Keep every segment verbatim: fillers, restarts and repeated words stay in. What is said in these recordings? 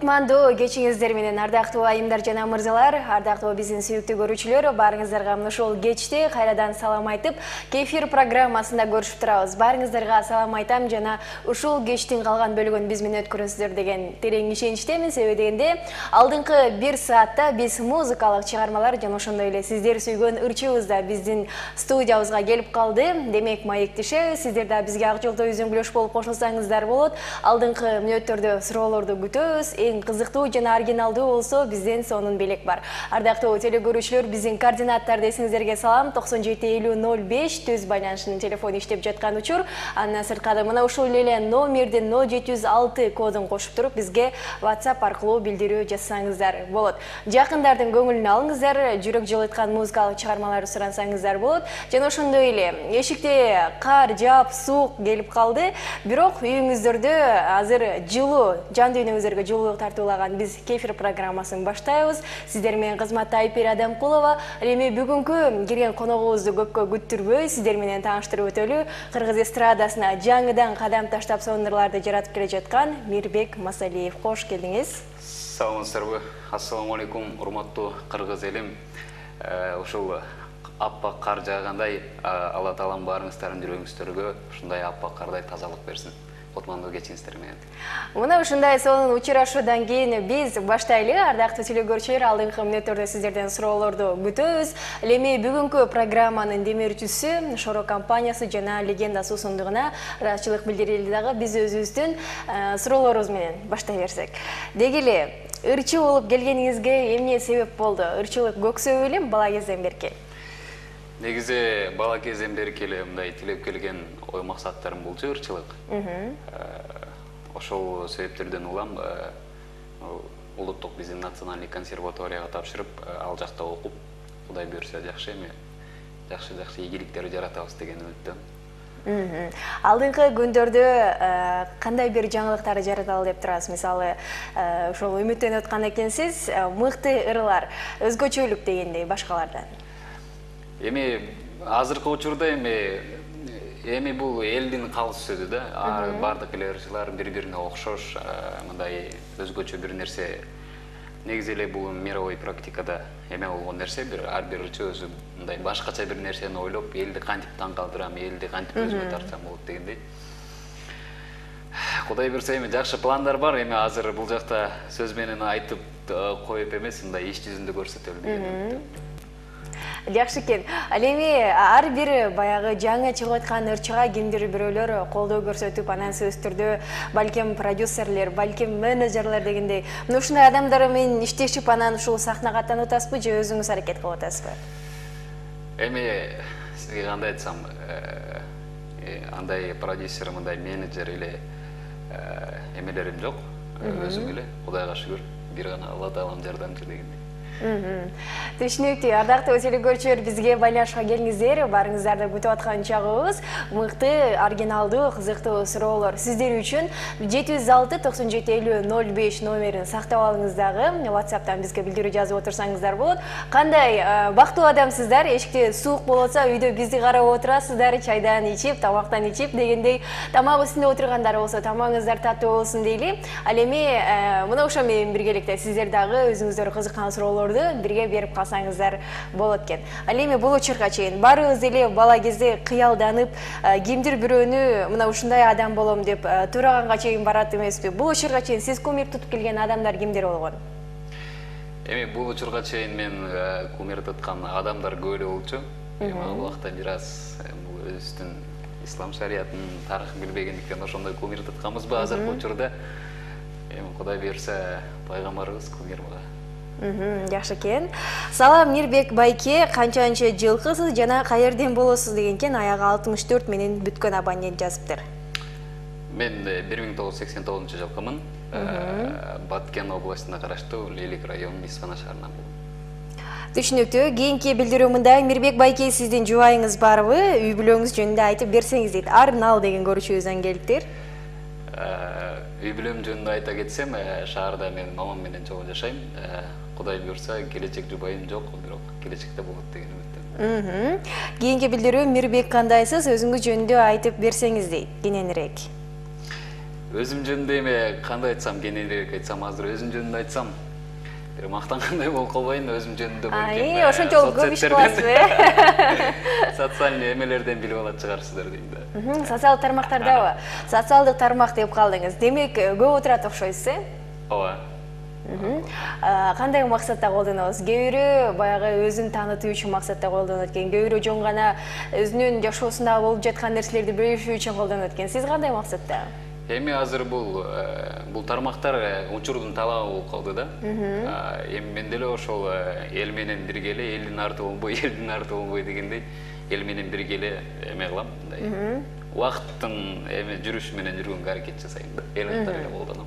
Кутмандуу кечиңиздер менен ардактуу айымдар жана мырзалар, ардактуу биздин сүйүктүү көрүүчүлөр, баарыңыздарга ушул кечте кайрадан салам айтып, Кефир программасында көрүшүп турабыз. Баарыңыздарга салам айтам жана ушул кечтин калган бөлүгүн биз менен өткөрөсүздөр деген терең ишеничтемин. Себеби дегенде, алдыңкы бир саатта биз музыкалык чыгармалар жана ошондой эле сиздер сүйгөн ырчыбыз да биздин студиябызга келип калды. Демек, маектешебиз, сиздер да бизге ак жолдо үзүңгүлөш болуп кошулсаңыздар болот. Алдыңкы мүнөттөрдө суроолорду күтөбүз. Эң кызыктуу жана оригиналдуу болсо бизден сонун белек бар. Ардактуу телекөрүүчүлөр, биздин координаттарды эсиңиздерге салам. токсон жети элүү ноль беш төз байланышынын телефону иштеп жаткан учур. Андан сырткары мына ушул эле номердин ноль жети жүз алты кодун кошуп туруп бизге WhatsApp аркылуу билдирүү жазсаңыздар болот. Жакындардын көңүлүн алыңыздар, жүрөк жылыткан музыкалык чыгармаларды сурансаңыздар болот. Жана ошондой эле эшикте кар жаап, суук келип калды. Бирок үйүңүздөрдө азыр жылуу, жан дүйнөңүздөргө жылуу тартуулаган биз Кефир программасын баштайбыз. Сиздер менен кызматта Айпери Адамкулова. Эми бүгүнкү кирген коногубузду көпкө күттүрбөй сиздер менен тааныштырып өтөлү. Кыргыз эстрадасына жаңыдан кадам таштап сонурларды жаратып келе жаткан Мирбек Масалиев. Кош келдиңиз. Саламатсыздарбы? Ассаламу алейкум, урматтуу кыргыз элим. Ушул аппак кар жаагандай, Алла Таалам баарыңыздардын жүрөгүңүздөргө ушундай аппак кардай тазалык берсин. Кутмандуу кечиңиздер менен. Мына ушундай сонун учурашуудан кийин биз баштайлы. Ардактуу телекөрүүчүлөр, алдыңкы мүнөттөрдө сиздерден суроолорду күтөбүз. Эми бүгүнкү программанын демирчүсү Шоро компаниясы жана Легенда суусундугуна ыраазычылык билдирели дагы биз өзүбүздүн суроолорубуз менен баштай берсек. Деги эле ырчы болуп келгениңизге эмне себеп болду? Ырчылык көксөбү элем бала кезден берки? Негизи бала кезден берки эле мындай тилеп келген ой максаттарым болчу ырчылык. Ошол себептерден улам улуттук биздин национальный консерваторияга тапшырып, ал жакта окуп, Кудай буйрса жакшы эми жакшы-жакшы ийгиликтерди жаратабыз деген үмүттөм. Алдыңкы күндөрдө кандай бир жаңылыктарды жараталы деп турасыз? Мисалы, ошол үмүттөнүп аткан экенсиз, мыкты ырлар, өзгөчөлүк дегендей башкалардан. Эми азыркы учурда эми эми бул элдин калыс сөзү да. Бардык эле ырчылар бири-бирине окшош, мындай өзгөчө бир нерсе. Негизи эле бул мировой практикада эме болгон нерсе, бир ар бир ырчы өзү мындай башкача бир нерсени ойлоп, элди кантип таң калтырам, элди кантип өзүмө тартсам болот дегендей. Кудай буйрса эми жакшы пландар бар. Эми азыр бул жакта сөз менен айтып коюп эмес, мындай иш жүзүндө көрсөтөлү деген үмүттөм. Жакшы экен. Ал эми ар бир баягы жаңы чыгып аткан ырчыга кимдир бирөөлөр колдоо көрсөтүп, анан сөзсүздөрдө балким продюсерлер, балким менеджерлер дегендей, мына ушундай адамдар менен иштешип, анан ушул сахнага аттанып атасызбы же өзүңүз аракет кылып атасызбы? Эми сизге кандай айтсам, андай продюсер, мындай менеджер эле эмелерим жок. Өзүм эле, Кудайга шүгүр, бир гана Алла Таалам жардамчы дегендей. Түшүнүктүү. Ардактуу телекөрүүчүлөр, бизге байланышка келиңиздер. Баарыңыздарды күтүп аткан чагыбыз мыкты, оригиналдуу, кызыктуу суроолор сиздер үчүн жети жүз алты токсон жети элүү ноль беш номерин сактап алыңыз дагы. WhatsApp'тан бизге билдирүү жазып отурсаңыздар болот. Кандай бактылуу адамсыздар? Эшикте суук болот атса, үйдө бизди карап отурасыздар, чайдан ичип, тамактан ичип дегендей, тамак үстүндө отургандар болсо, тамагыңыздар таттуу болсун дейли. Ал эми мына ошо менен биргеликте сиздер дагы өзүңүздөр кызыккан суроолор бирге берип калсаңыздар болот экен. Ал эми бул учурга чейин баарыбыз эле бала кезде кыялданып, кимдир бирөөнү мына ушундай адам болом деп тураганга чейин барат эмеспи? Бул учурга чейин сиз кумир тутуп келген адамдар кимдер болгон? Эми бул учурга чейин мен кумир туткан адамдар көп эле болчу. Эми ал убакта бир аз бул өзүбүздүн ислам шариятынын тарыхын билбегендиктен ошондой кумир тутканбызбы азыркы учурда? Эми Кудай буйрса пайгамбарыбыз кумир буга. Жакшы экен. Салам Мирбек байке, канчанчы жылкысыз жана каерден болосуз деген экен, аягы алтымыш төрт менен бүткөн абонент жазыптыр. Мен бир миң тогуз жүз сексен тогузунчу жылкымын. Баткен областына караштуу Лейлик районунун Исфана шаарынан болом. Түшүнүктүү. Кийинки билдирүү мындай: Мирбек байке, сиздин жубайыңыз барбы? Үй бүлөңүз жөнүндө айтып берсеңиз дейт. Арнал деген көрүүчүбүздөн келиптир. Үй бүлөм жөнүндө айта кетсем, шаарда мен мамам менен чогуу жашайм. Кудай буйрса келечек жубайым жок, бирок келечекте болот деген үмүттөм. Кийинки билдирүү: Мирбек кандайсыз? Өзүңүз жөнүндө айтып берсеңиз дейт, кененирээк. өзүм жөнүндө эме кандай айтсам, кененирээк айтсам, азыр өзүм жөнүндө айтсам, бир мактангандай болуп калбайын, өзүм жөнүндө балким. Ошончо көп иш кыласыз, э? Социальный эмелерден билип алат чыгарсыздар дейм да. Социалдык тармактардабы? Социалдык тармак деп калдыңыз. Демек, көп отурат окшойсуз, э? Ооба. Кандай максатта колдоносуз? Кээ бирөө баягы өзүн таанытуу үчүн максатта колдонот экен, кээ бирөө жөн гана өзүнүн жашоосунда болуп жаткан нерселерди бөлүшүү үчүн колдонот экен. Сиз кандай максатта? Эми азыр бул бул тармактар учурдун талабы болуп калды да. Эми мен деле ошол эл менен бирге эле, элдин арты болбой, элдин арты болбой дегендей, эл менен бирге эле эме кылам, мындай. Убакыттын эме жүрүшү менен жүргөнгө аракет жасайм да. Эл катары эле колдоном.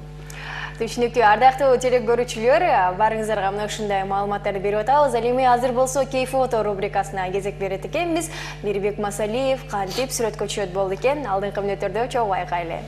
Түшүнүктүү. Ардактуу телекөрүүчүлөр, барыңыздарга мына ушундай маалыматтарды берип атабыз. Ал эми азыр болсо кей фото рубрикасына кезек берет экенбиз. Мирбек Масалиев кантип сүрөткө түшөт болду экен? Алдыңкы мүнөттөрдө чогуу байкайлы.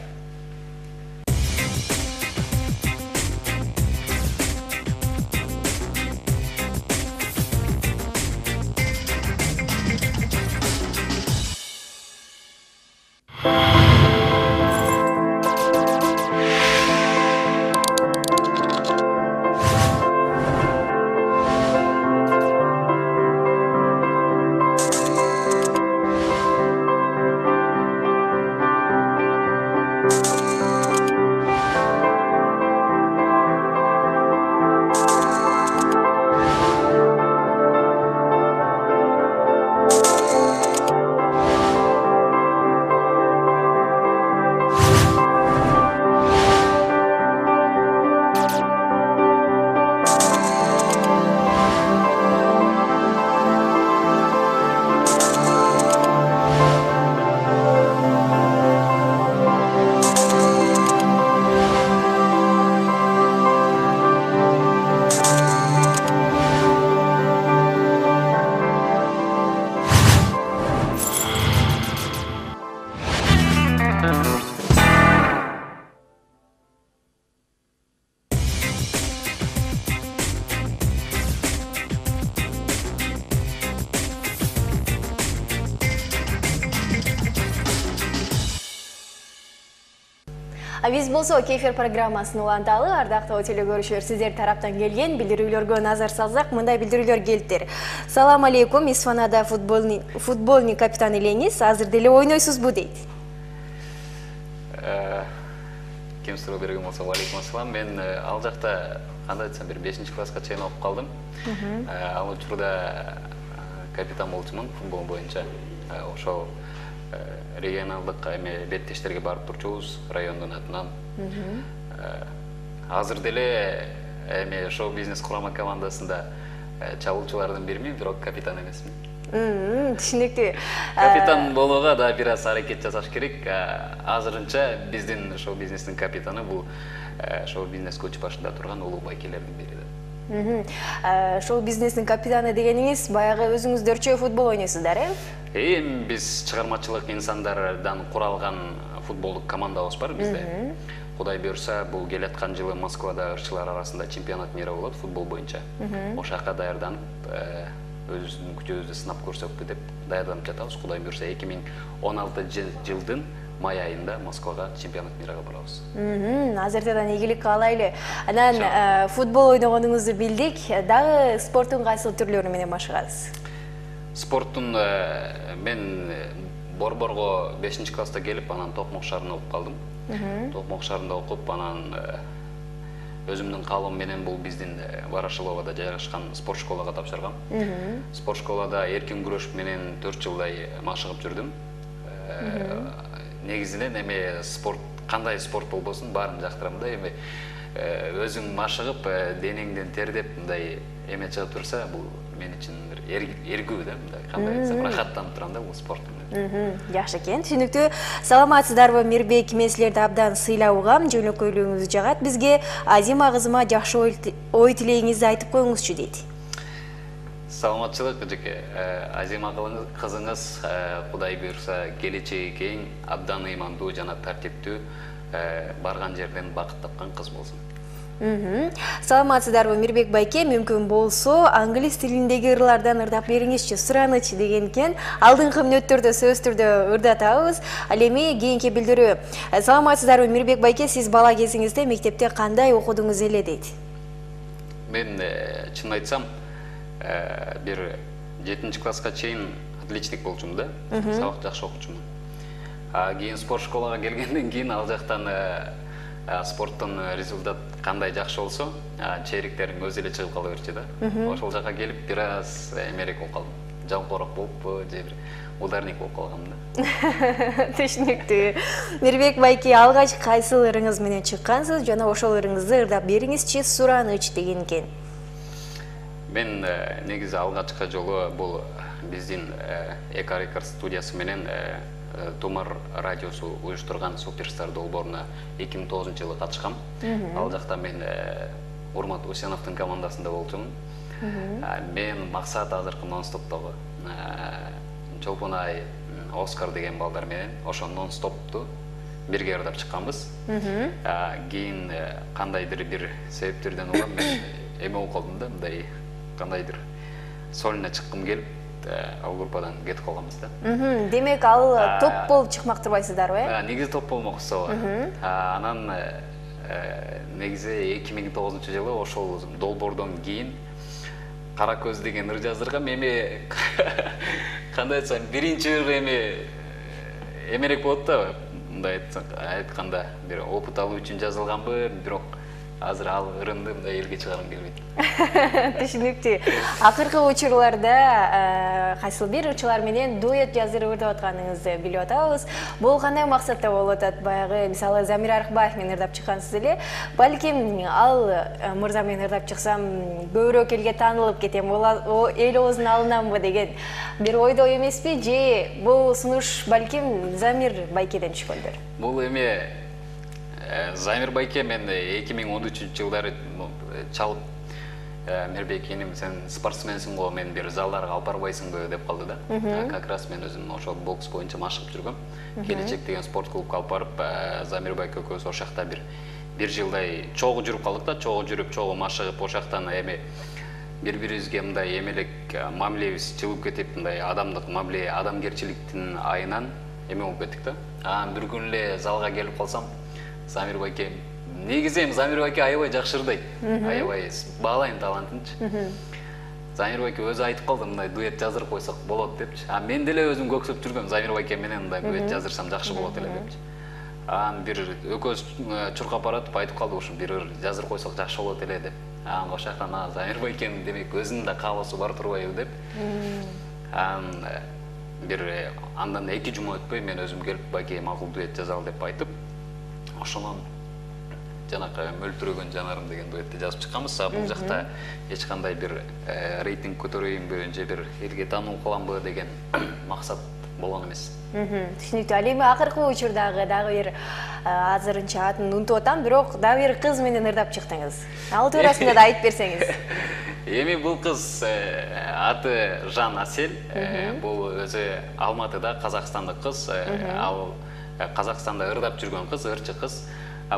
Биз болсо кефир программасын уланталы. Ардактуу телекөрүүчүлөр, сиздер тараптан келген билдирүүлөргө назар салсак, мындай билдирүүлөр келиптир. Салам алейкум, Исфанада футболный футболный капитан элеңиз, азыр деле ойнойсузбу дейт. Ким суроо берген болсо, алейкум ассалам. Мен ал жакта кандай айтсам, бир бешинчи класска чейин окуп калдым. Ал учурда капитан болчумун футбол боюнча. Ошол регионалдык эме беттештерге барып турчубуз райондун атынан. Азыр деле эме шоу-бизнес курама командасында чабуулчулардын биримин, бирок капитан эмесмин. Түшүнүктүү. Капитан болууга да бир аз аракет жасаш керек. Азырынча биздин шоу-бизнестин капитаны бул шоу-бизнес көч башында турган улуу байкелердин бири да. Шоу-бизнестин капитаны дегениңиз баягы өзүңүздөрчө футбол ойнойсуздар, э? Эми биз чыгармачылык инсандардан куралган футболдук командабыз бар бизде. Кудай буйрса, бул келаткан жылы Москвада ырчылар арасында чемпионат мира болот футбол боюнча. Ошол жака даярданып, өзүбүздүн күчүбүздү сынап көрсөкпү деп даярданып жатабыз. Кудай буйрса, эки миң он алтынчы жылдын май айында Москвага чемпионат мирага барабыз. Азыртадан ийгилик каалайлы. Анан футбол ойногонуңузду билдик. Дагы спорттун кайсыл түрлөрү менен машыгасыз? Спорттун мен Борборго бешинчи класста келип, анан Токмок шаарында окуп калдым. Токмок шаарында окуп, анан өзүмдүн каалоом менен бул биздин Ворошиловада жайгашкан спорт школага тапшыргам. Спорт школада эркин күрөш менен төрт жылдай машыгып жүрдүм. Негизинен эме спорт, кандай спорт болбосун баарын жактырам да. Эми өзүң машыгып, денеңден тердеп, мындай эме чыгып турса, бул мен үчүн эргүү да, мындай кандай айтсам, рахаттанып турам да бул спорт менен. Жакшы экен, түшүнүктүү. Саламатсыздарбы, Мирбек? Мен силерди абдан сыйлауга, жөнөкөйлүгүңүз жагат бизге. Азима кызыма жакшы ой тилегиңизди айтып коюңузчу дейт. Саламатчылык эжеке. Азима кызыңыз Кудай буйрса келечеги кең, абдан ыймандуу жана тартиптүү, барган жерден бакыт тапкан кыз болсун. Саламатсыздарбы, Мирбек байке, мүмкүн болсо англис тилиндеги ырлардан ырдап бериңизчи, сураныч деген экен. Алдыңкы мүнөттөрдө сөз түрдө ырдатабыз. Ал эми кийинки билдирүү. Саламатсыздарбы, Мирбек байке, сиз бала кезиңизде мектепте кандай окудуңуз эле дейт? Мен чын айтсам, бир жетинчи класска чейин отличник болчумун да, сабак жакшы окучумун. Кийин спорт школага келгенден кийин ал жактан спорттон результат кандай жакшы болсо, чейректерим өзү эле чыгып кала берчү да. Ошол жака келип бир аз эмерек болуп калдым. Жалпоорак болуппу, же бир ударник болуп калгам да. Түшүнүктүү. Мирбек байке, алгач кайсыл ырыңыз менен чыккансыз жана ошол ырыңызды ырдап бериңизчи, сураныч деген экен. Мен негизи алгачкы жолу бул биздин Эко Рекорд студиясы менен Тумар радиосу уюштурган Суперстар долбооруна эки миң тогузунчу жылы катышкам. Ал жакта мен Урмат Усеновдун командасында болчумун. Мен максат азыркы нон-стоптогу Чолпонай, Оскар деген балдар менен ошо нон-стопту бирге ырдап чыкканбыз. Кийин кандайдыр бир себептерден улам мен эме болуп калдым да, мындай кандайдыр сольно чыккым келип, ал группадан кетип калганбыз да. Демек ал топ болуп чыкмактырбайсыздарбы, э? Негизи топ болмокчу. Анан негизи эки миң тогузунчу жылы ошол долбоордон кийин Кара көз деген ыр жаздыргам. Эми кандай айтсам, биринчи ыр эми эмерек болот да, мындай айтканда, бир опыт алуу үчүн жазылганбы, бирок азыр ал ырымды мындай элге чыгаргым келбейт. Түшүнүктүү. Акыркы учурларда кайсыл бир ырчылар менен дуэт жаздырып ырдап атканыңызды билип атабыз. Бул кандай максатта болуп атат? Баягы, мисалы, Замир Арыкбаев менен ырдап чыккансыз эле. Балким ал мырза менен ырдап чыксам көбүрөөк элге таанылып кетем, эл оозунун алынамбы деген бир ойдо эмеспи? Же бул сунуш балким Замир байкеден түшкөндөр? Бул эми Замир байке мен эки миң он үчүнчү жылдары чалып, Мирбек эним, сен спортсменсиң го, мен бир залдарга алып барбайсыңбы деп калды да. Как раз мен өзүм ошол бокс боюнча машыгып жүргөм. Келечек деген спорт клубка алып барып, Замир байке экөөбүз ошол жакта бир бир жылдай чогуу жүрүп калдык да, чогуу жүрүп, чогуу машыгып, ошол жактан эми бири-бирибизге мындай эмелек мамилебиз жылып кетип, мындай адамдык мамиле, адамгерчиликтин айынан эме болуп кеттик да. Анан бир күн эле залга келип калсам, Замир байке, негизи эми Замир байке аябай жакшы ырдайт. Аябай баалайм талантынчы. Замир байке өзү айтып калды, мындай дуэт жаздырып койсок болот депчи. А мен деле өзүм көксөп жүргөм, Замир байке менен мындай дуэт жаздырсам жакшы болот эле депчи. Анан бир экөөбүз чуркап баратып айтып калдык, ушу бир ыр жаздырып койсок жакшы болот эле деп. Анан ошол жактан Замир байкенин демек өзүнүн да каалоосу бар турбайбы деп. Анан бир андан эки жума өтпөй мен өзүм келип байке макул дуэт жазалы деп айтып, ошонун жанакы мөлтүрөгөн жанарым деген дуэтти жазып чыкканбыз. Бул жакта эч кандай бир рейтинг көтөрөйүнбү, же бир элге таануу кыламбы деген максат болгон эмес. Түшүнүктүү. Ал эми акыркы учурдагы дагы бир азырынча атын унутуп атам, бирок дагы бир кыз менен ырдап чыктыңыз. Ал туурасында да айтып берсеңиз. Эми бул кыз аты Жан Асель. Бул өзү Алматыда казакстандык кыз. Ал Казакстанда ырдап жүргөн кыз, ырчы кыз.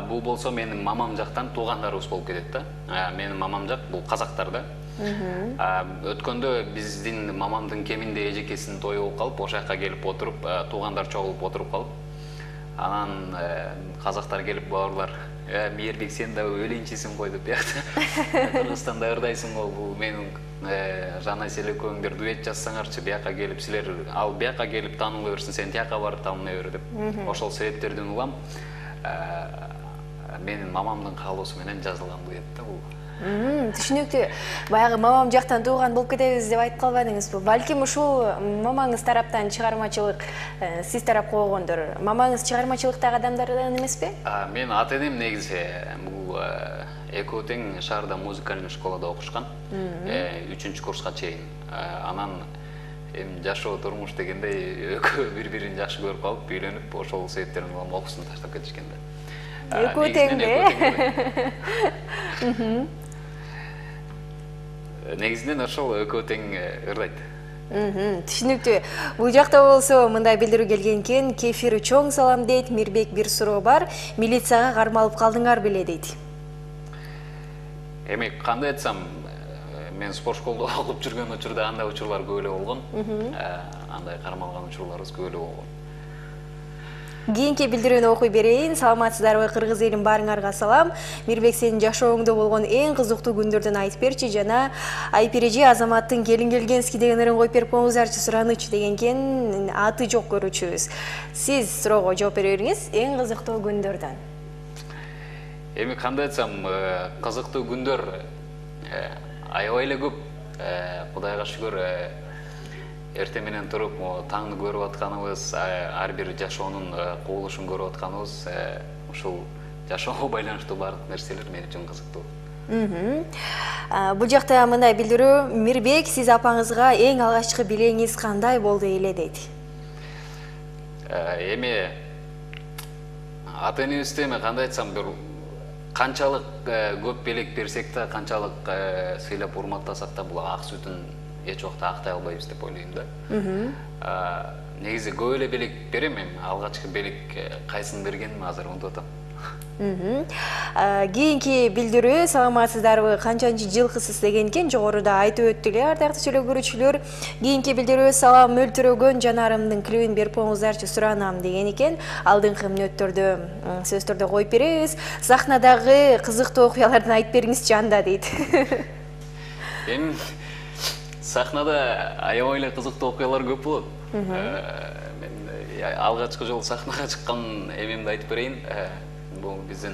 Бул болсо менин мамам жактан туугандарыбыз болуп кетет да. Менин мамам жак бул казактар да. Өткөндө биздин мамамдын кеминде эжекесинин тою болуп калып, ошол жака келип отуруп, туугандар чогулуп отуруп калып, анан казактар келип, бауырлар, Мирбек, сен да өлөнчүсүң го деп, биякта Кыргызстанда ырдайсың го, бул менин Жан Асель экөөңдөр дуэт жазсаңарчы, бияка келип силер, ал бияка келип таанылы берсин, сен тияка барып таанылы бер деп. Ошол себептерден улам менин мамамдын каалоосу менен жазылган дуэт да бул. Түшүнүктүү. Баягы мамам жактан тууган болуп кетебиз деп айтып калбадыңызбы? Балким ушул мамаңыз тараптан чыгармачылык сиз тарапка койгондор. Мамаңыз чыгармачылыктагы адамдардан эмеспи? Мен ата-энем негизи бул экөө тең шаарда музыкальный школада окушкан. үчүнчү курска чейин. Анан эми жашоо турмуш дегендей экөө бири-бирин жакшы көрүп калып, үйлөнүп, ошол себептерден улам окуусун таштап кетишкен да. Экөө тең да. Негизинен ошол экөө тең ырдайт. Түшүнүктүү. Бул жакта болсо мындай билдирүү келген экен. Кефир чоң салам дейт. Мирбек, бир суроо бар. Милицияга кармалып калдыңар беле дейт. эми кандай айтсам, мен спорт школда окуп жүргөн учурда андай учурлар көп эле болгон. Андай кармалган учурларыбыз көп эле болгон. Кийинки билдирүүнү окуй берейин. Саламатсыздарбы, кыргыз элим, баарыңарга салам. Мирбек, сенин жашооңдо болгон эң кызыктуу күндөрдөн айтып берчи, жана Айпережи Азаматтын келин келгенский деген ырын коюп берип коюңуздарчы, суранычы деген экен, аты жок көрүүчүбүз. Сиз суроого жооп бере бериңиз, эң кызыктуу күндөрдөн. Эми кандай айтсам, кызыктуу күндөр аябай эле көп. Кудайга шүгүр, эртең менен туруп таңды көрүп атканыбыз, ар бир жашоонун кубулушун көрүп атканыбыз, ушул жашоого байланыштуу баардык нерселер мен үчүн кызыктуу. Бул жакта мындай билдирүү, Мирбек, сиз апаңызга эң алгачкы белеңиз кандай болду эле дейт. Эми ата энебизде эми кандай айтсам, бир канчалык көп белек берсек да, канчалык сыйлап урматтасак да, бул ак сүтүн эч убакта актай албайбыз деп ойлойм да. Негизи көп эле белек берем, эми алгачкы белек кайсын бергеним азыр унутуп атам. Кийинки билдирүү, саламатсыздарбы, канчанчы жылкысыз деген экен, жогоруда айтып өттү эле ардактуу сүйлөө көрүүчүлөр. Кийинки билдирүү, салам, мөлтүрөгөн жанарымдын клибин берип коюңуздарчы, суранам деген экен. Алдыңкы мүнөттөрдө сөздөрдө коюп беребиз. Сахнадагы кызыктуу окуяларды айтып бериңизчи анда дейт. Эми сахнада аябай эле кызыктуу окуялар көп болот. Мен алгачкы жолу сахнага чыккан эмемди айтып берейин. Бул биздин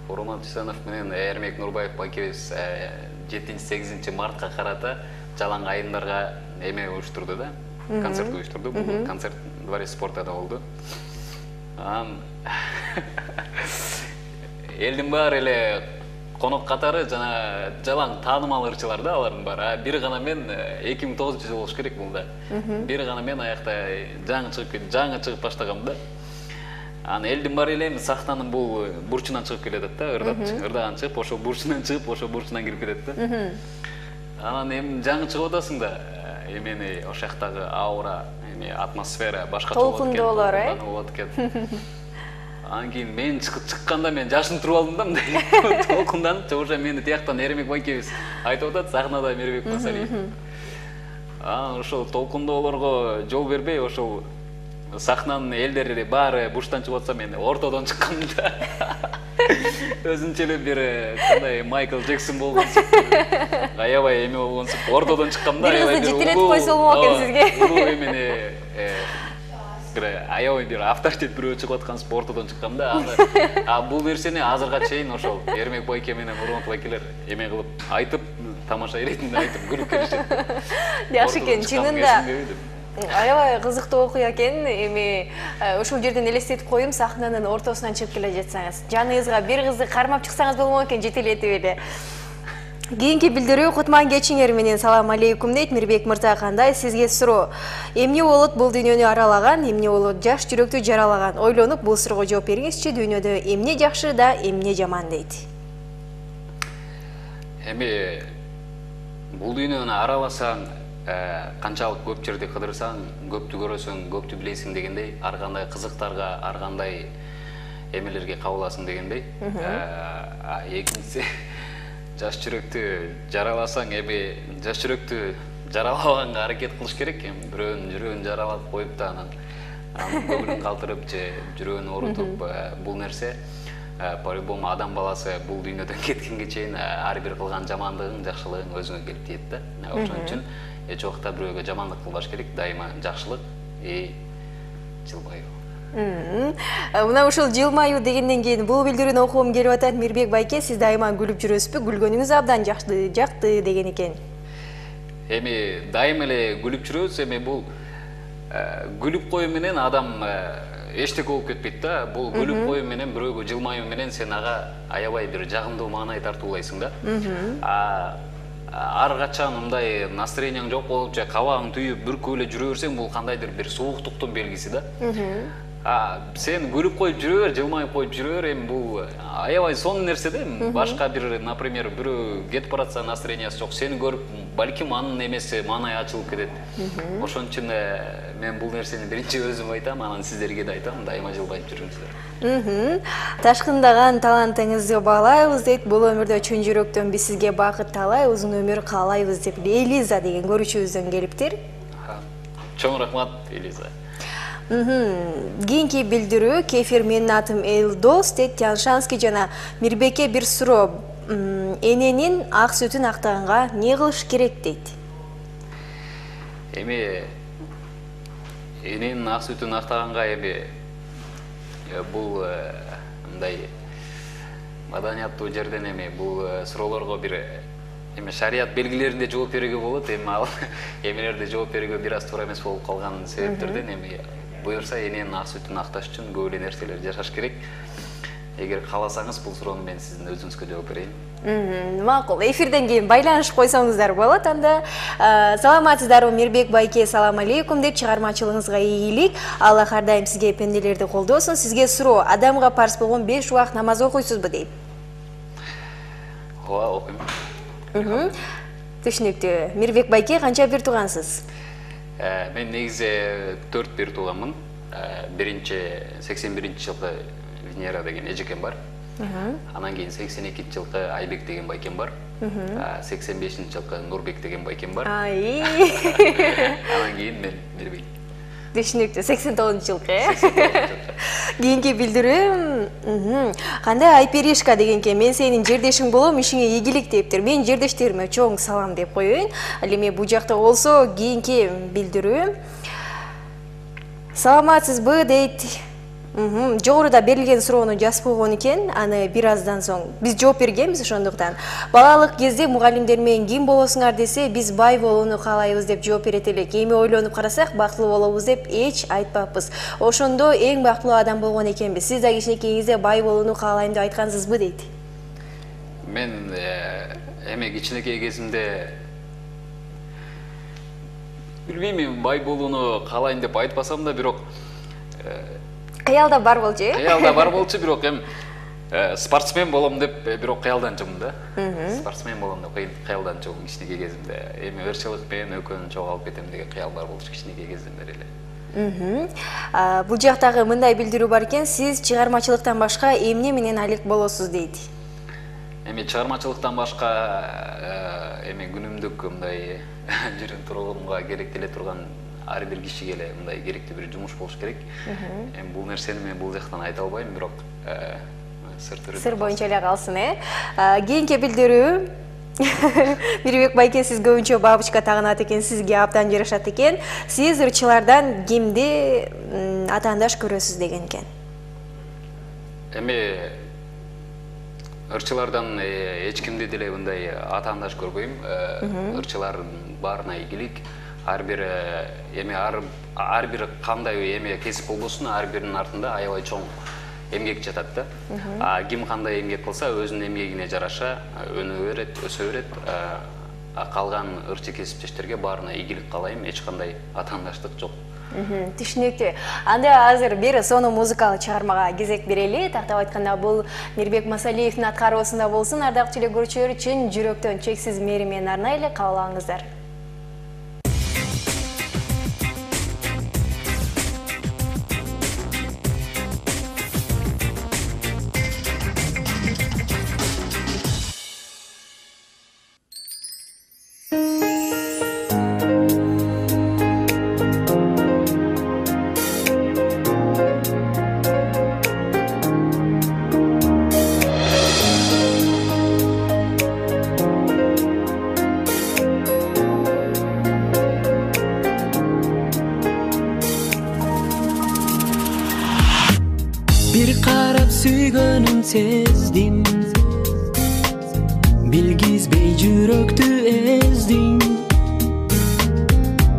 Урман Түйсөнов менен Эрмек Нурбаев байкебиз жетинчи сегизинчи мартка карата Жалаң айымдарга эме уюштурду да, концерт уюштурду. Бул концерт Дворец спортада болду. Элдин баары эле конок катары жана жалаң таанымал ырчылар да, алардын баары. Бир гана мен эки миң тогузунчу жыл болуш керек бул да. Бир гана мен аякта жаңы чыгып, жаңы чыгып баштагам да. Аны элдин баары эле эми сахнанын бул бурчунан чыгып келет да, ырдап, ырдаган чыгып, ошо бурчунан чыгып, ошо бурчунан кирип кетет да. Анан эми жаңы чыгып атасың да, эмени ошол жактагы аура, эми атмосфера башкача болот экен. Толкундуулар, болот экен. Анан кийин мен чыкканда мен жашынып туруп алдым да, мындай толкунданып, уже мени тияктан Эрмек байкебиз айтып атат, сахнада Мирбек Масалиев. Анан ошол толкундоолорго жол бербей, ошол сахнанын элдери баары бурчтан чыгып атса, мен ортодон чыккам да. Өзүнчө эле бир кандай Майкл Джексон болгонсуп, аябай эме болгонсуп, ортодон чыккам да. Бир кызды жетелетип койсо болмок экен сизге. Улуу эмени аябай бир авторитет бирөө чыгып аткансып, ортодон чыккам да. А бул нерсени азырга чейин ошол Эрмек байке менен Урмат байкелер эме кылып айтып, тамаша иретинде айтып күлүп келишет. Жакшы экен, чынында. Аябай кызыктуу окуя экен. Эми ушул жерден элестетип коюм, сахнанын ортосунан чыгып келе жатсаңыз, жаныңызга бир кызды кармап чыксаңыз болмок экен, жетелетип эле. Кийинки билдирүү, кутман кечиңер менен салам алейкум дейт. Мирбек мырза, кандай? Сизге суроо. Эмне болот бул дүйнөнү аралаган, эмне болот жаш жүрөктү жаралаган? Ойлонуп бул суроого жооп бериңизчи. Дүйнөдө эмне жакшы да эмне жаман дейт? Эми бул дүйнөнү араласаң, канчалык көп жерди кыдырсаң, көптү көрөсүң, көптү билесиң дегендей, ар кандай кызыктарга, ар кандай эмелерге кабыласың дегендей. Экинчиси, жаш жүрөктү жараласаң, эми жаш жүрөктү жаралабаганга аракет кылыш керек. Эми бирөөнүн жүрөгүн жаралап коюп да анан көңүлүн калтырып же жүрөгүн оорутуп, бул нерсе по-любому адам баласы бул дүйнөдөн кеткенге чейин ар бир кылган жамандыгың, жакшылыгың өзүңө келип тиет да. Ошон үчүн эч убакта бирөөгө жамандык кылбаш керек, дайыма жакшылык и жылмаюу. Мына ушул жылмаюу дегенден кийин бул билдирүүнү окугум келип атат. Мирбек байке, сиз дайыма күлүп жүрөсүзбү? Күлгөнүңүз абдан жакты, жакты деген экен. Эми дайыма эле күлүп жүрөбүз. Эми бул күлүп коюу менен адам эчтеке болуп кетпейт да. Бул күлүп коюу менен, бирөөгө жылмаюу менен сен ага аябай бир жагымдуу маанай тартуулайсың да. Ар качан мындай настроениең жок болуп же кабагың түйүп бүркүп эле жүрө берсең, бул кандайдыр бир сууктуктун белгиси да. сен күлүп коюп жүрө бер, жылмайып коюп жүрө бер, эми бул аябай сонун нерсе да. Башка бир, например, бирөө кетип баратса, настроениясы жок, сени көрүп, балким анын эмеси маанай ачылып кетет. Ошон үчүн мен бул нерсени биринчи өзүм айтам, анан сиздерге да айтам, дайыма жылбайып жүрүңүздөр. Ташкындаган талантыңызды баалайбыз дейт. Бул өмүрдө чын жүрөктөн биз сизге бакыт таалай, узун өмүр каалайбыз деп Элиза деген көрүүчүбүздөн келиптир. Чоң рахмат, Элиза. Кийинки билдирүү, кефир менин атым Элдос дейт. Тяншанский жана Мирбекке бир суроо. Эненин ак сүтүн актаганга эмне кылыш керек дейт? Эми эненин ак сүтүн актаганга эми бул мындай маданияттуу жерден эми бул суроолорго бир эми шарият белгилеринде жооп берүүгө болот. Эми ал эмелерде жооп берүүгө бир аз туура эмес болуп калган себептерден эми буюрса эненин ак сүтүн акташ үчүн көп эле нерселер жашаш керек. Эгер кааласаңыз, бул суроону мен сиздин өзүңүзгө жооп берейин. Макул, эфирден кийин байланышып койсоңуздар болот. Анда саламатсыздарбы Мирбек байке, салам алейкум деп чыгармачылыгыңызга ийгилик. Аллах ар дайым сизге пенделерди колдосун. Сизге суроо, адамга парз болгон беш убакыт намаз окуйсузбу дейт? Ооба, окуйм. Түшүнүктүү. Мирбек байке, канча бир туугансыз? Мен негизи төрт бир тууганмын. Биринчи сексен биринчи жылкы Венера деген эжекем бар. Анан кийин сексен экинчи жылкы Айбек деген байкем бар. сексен бешинчи жылкы Нурбек деген байкем бар. Ай. Анан кийин мен Мирбек. Түшүнүктүү. сексен тогузунчу жылкы, э? Кийинки билдирүү, кандай Айперишка дегенке, мен сенин жердешиң болом, ишиңе ийгилик дептир. Мен жердештериме чоң салам деп коеюн. Ал эми бул жакта болсо, кийинки билдирүү. Саламатсызбы дейт. Жогоруда берилген суроону жазып койгон экен, аны бир аздан соң биз жооп бергенбиз, ошондуктан. Балалык кезде мугалимдер менен ким болосуңар десе, биз бай болууну каалайбыз деп жооп берет элек. Эми ойлонуп карасак, бактылуу болобуз деп эч айтпаппыз. Ошондо эң бактылуу адам болгон экенбиз. Сиз да кичинекейиңизде бай болууну каалайм деп айткансызбы дейт? Мен эми кичинекей кезимде билбейм, бай болууну каалайм деп айтпасам да, бирок кыялда бар болчу, э? Кыялда бар болчу, бирок эми спортсмен болом деп бирок кыялданчумун да. Спортсмен болом деп кыялданчумун кичинекей кезимде. Эми ырчылык менен өкөнү чогулуп кетем деген кыял бар болчу кичинекей кезимде эле. Бул жактагы мындай билдирүү бар экен, сиз чыгармачылыктан башка эмне менен алек болосуз дейт? Эми чыгармачылыктан башка эми күнүмдүк мындай жүрүм турумга керектеле турган ар бир кишиге эле мындай керектүү бир жумуш болуш керек. Эми бул нерсени мен бул жактан айта албайм, бирок сыр түрүндө. Сыр боюнча эле калсын, э? Кийинки билдирүү. Мирбек байке, сиз көбүнчө бабочка тагынат экен, сизге абдан жарашат экен. Сиз ырчылардан кимди атаандаш көрөсүз деген экен? Эми ырчылардан эч кимди деле мындай атаандаш көрбөйм. Ырчылардын баарына ийгилик. Ар бир эми ар бир кандай эме кесип болбосун, ар биринин артында аябай чоң эмгек жатат да. Ким кандай эмгек кылса, өзүнүн эмгегине жараша өнө берет, өсө берет. Калган ырчы кесиптештерге баарына ийгилик каалайм, эч кандай атаандаштык жок. Түшүнүктүү. Анда азыр бир сонун музыкалык чыгармага кезек берели. Тактап айтканда, бул Мирбек Масалиевдин аткаруусунда болсун. Ардактуу телекөрүүчүлөр, чын жүрөктөн чексиз мээри менен арнай эле кабыл алыңыздар. Bir qarab süygönüm sezdim, bilgizbey жүрөктү ezdin.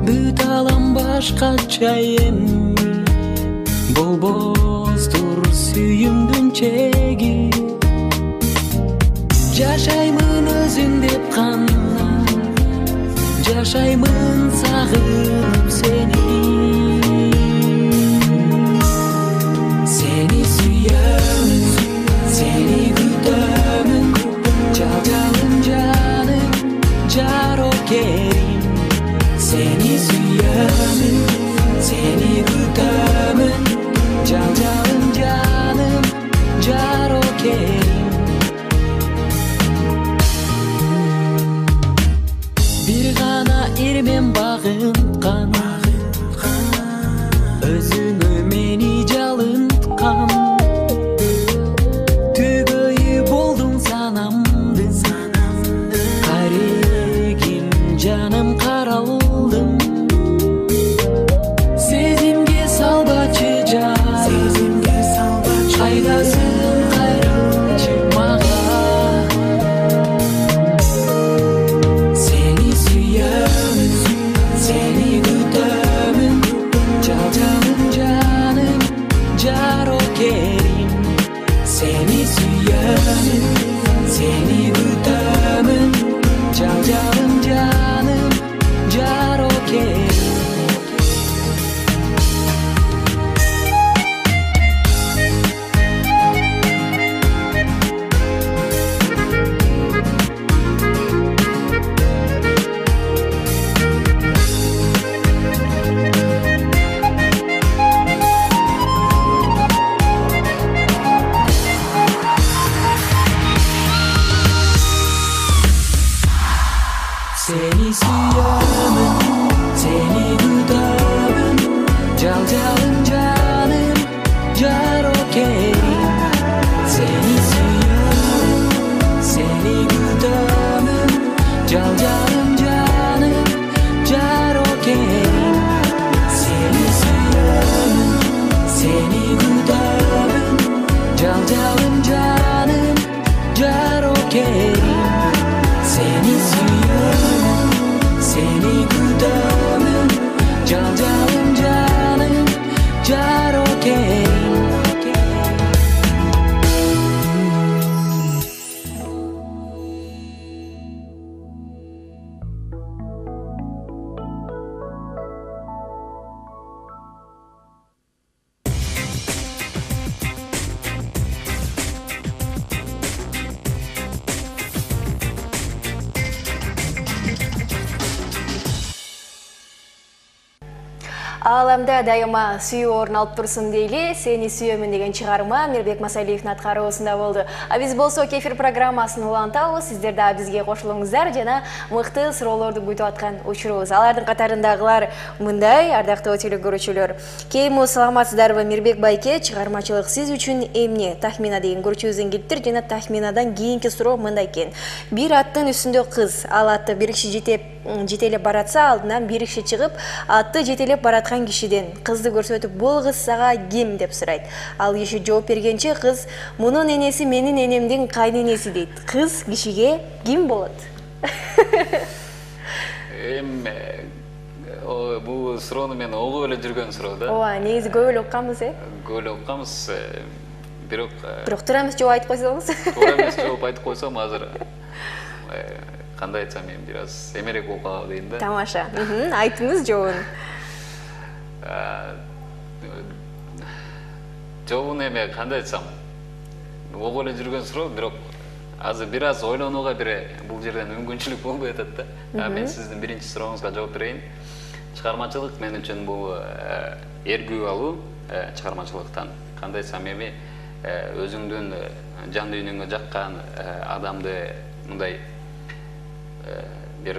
Бүт алам башкача эми, болбостур сүйүүмдүн чеги. Жашаймын өзүң деп кандап, жашаймын сагынып сени. жана эрмен багынткан, өзүңө мени жалынткан. Түгөйү болдуң санамдын, карегим жаным каралдым. Сезимге салбачы жан, кайдасың кайрылчы мага. Сени сүйөмүн, сени күтөмүн, жалжалым жаным, жарокерим. Seni suyarım, seni gütümün, calcalım canım, carokerim. Seni suyarım, seni gütümün, calcalım canım, carokerim. Seni suyarım, seni gütümün, calcalım canım, carokerim. Seni suyarım, seni gütümün, calcalım canım, carokerim. Seni suyarım, seni gütümün, calcalım canım, carokerim. Ааламда дайыма сүйүү орун алып турсун дейли. Сени сүйөмүн деген чыгарма Мирбек Масалиевдин аткаруусунда болду. А биз болсо кефир программасын улантабыз. Сиздер да бизге кошулуңуздар жана мыкты суроолорду күтүп аткан учурубуз. Алардын катарындагылар мындай, ардактуу телекөрүүчүлөр. Кейму саламатсыздарбы? Мирбек байке, чыгармачылык сиз үчүн эмне? Тахмина деген көрүүчүбүздүн килиптир жана тахминадан кийинки суроо мындай экен. Бир аттын үстүндө кыз, ал атты бир киши жетеп жетелеп баратса, алдынан бир киши чыгып, атты жетелеп бараткан кишиден кызды көрсөтүп, бул кыз сага ким деп сурайт. Ал киши жооп бергенче кыз мунун энеси менин энемдин кайненеси дейт. Кыз кишиге ким болот? Эм бул суроону мен угуп эле жүргөн суроо да. Ооба, негизи көп эле укканбыз, э? Көп эле укканбыз, бирок бирок туура эмес жооп айтып койсоңуз. Туура эмес жооп айтып койсом, азыр кандай айтсам, мен бир аз эмерек болуп калабы дейм да. Тамаша. Айтыңыз жообун. Жообун эме кандай айтсам, угуп эле жүргөн суроо, бирок азыр бир аз ойлонууга бир бул жерден мүмкүнчүлүк болбой атат да. Мен сиздин биринчи сурооңузга жооп берейин. Чыгармачылык мен үчүн бул эргүү алуу чыгармачылыктан. Кандай айтсам, эми өзүңдүн жан дүйнөңө жаккан адамды мындай бир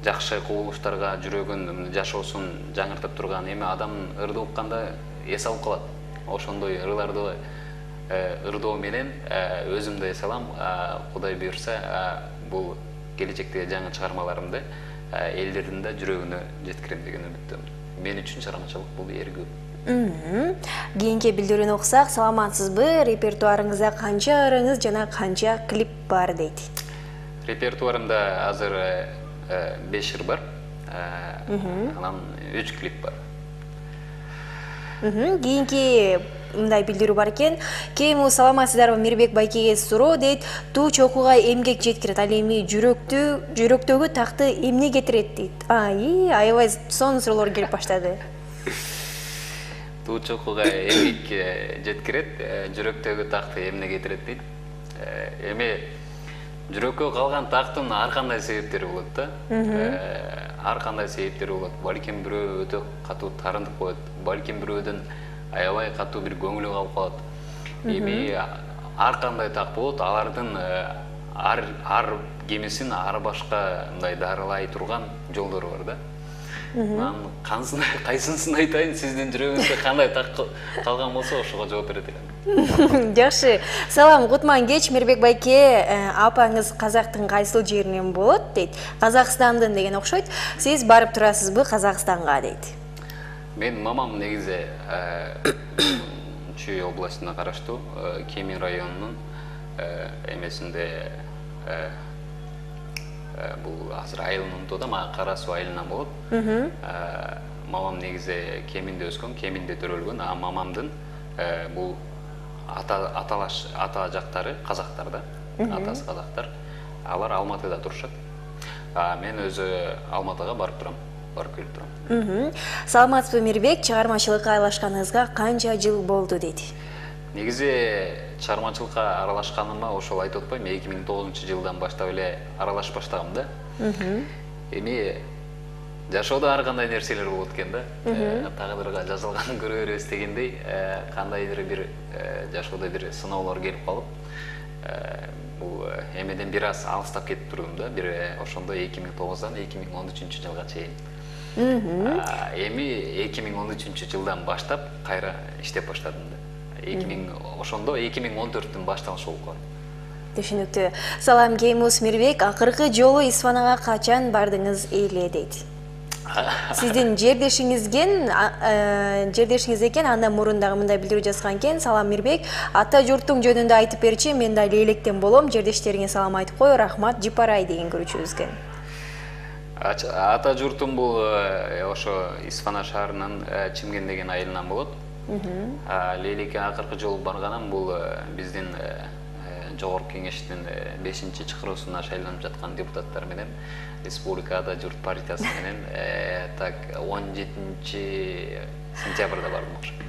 жакшы кубулуштарга жүрөгүн, жашоосун жаңыртып турган эми адамдын ырды укканда эс алып калат. Ошондой ырларды ырдоо менен өзүм да эс алам. Кудай буйрса, бул келечектеги жаңы чыгармаларымды элдердин да жүрөгүнө жеткирем деген үмүттөмүн. Мен үчүн чыгармачылык бул эргүү. Кийинки билдирүүнү окусак, саламатсызбы? Репертуарыңызда канча ырыңыз жана канча клип бар дейт. Репертуарымда азыр беш ыр бар, анан үч клип бар. Кийинки мындай билдирүү бар экен. Кейму саламатсыздарбы? Мирбек байкеге суроо дейт. Туу чокуга эмгек жеткирет, ал эми жүрөктү, жүрөктөгү такты эмне кетирет дейт. Ай, аябай сонун суроолор келип баштады. Туу чокуга эмгек жеткирет, жүрөктөгү такты эмне кетирет дейт. Эми жүрөккө калган тактын ар кандай себептери болот да. Ар кандай себептери болот. Балким бирөө өтө катуу тарынып коет, балким бирөөдөн аябай катуу бир көңүлү калып калат. Эми ар кандай так болот, алардын ар ар кемесин ары башка мындай дарылай турган жолдору бар да. Мен кайсысын айтайын, сиздин жүрөгүңүздө кандай так калган болсо ошого жооп берет элем. Жакшы. Салам, кутман кеч. Мирбек байке, апаңыз Казактын кайсыл жеринен болот дейт? Казакстандын деген окшойт. Сиз барып турасызбы Казакстанга дейт? Мен мамам негизи Чүй областына караштуу Кемин районунун эмесинде бул азыр айылын унутуп атам, Кара Суу айылынан болот. Мамам негизи Кеминде өскөн, Кеминде төрөлгөн, а мамамдын бул ата аталаш ата жактары казактар да. Атасы казактар. Алар Алматыда турушат. А мен өзү Алматыга барып турам, барып келип турам. Саламатсызбы Мирбек, чыгармачылыкка аралашканыңызга канча жыл болду дейт? Негизи чыгармачылыкка аралашканыма ошол айтып атпайм, эки миң тогузунчу жылдан баштап эле аралашып баштагам да. Эми жашоодо ар кандай нерселер болот экен да. Тагдырга жазылганын көрө беребиз дегендей, кандайдыр бир жашоодо бир сыноолор келип калып, бул эмеден бир аз алыстап кетип турдум да. Бир ошондо эки миң тогуздан эки миң он үчүнчү жылга чейин. Эми эки миң он үчүнчү жылдан баштап кайра иштеп баштадым да. эки миң ошондо эки миң он төрттүн башталышы болуп калды. Түшүнүктүү. Салам Кеймус Мирбек, акыркы жолу Исфанага качан бардыңыз эле дейт? Сиздин жердешиңизген, жердешиңиз экен, андан мурун дагы мындай билдирүү жазган экен. Салам Мирбек, ата журтуң жөнүндө айтып берчи, мен да Лейлектен болом, жердештериңе салам айтып кой, рахмат, Жипарай деген көрүүчүбүзгө. Ата журтум бул ошо Исфана шаарынын Чимген деген айылынан болот. Лейлекке акыркы жолу барганам бул биздин жогорку кеңештин бешинчи чакыруусуна шайланып жаткан депутаттар менен Республикада журт партиясы менен так он жетинчи сентябрда бардым окшойт.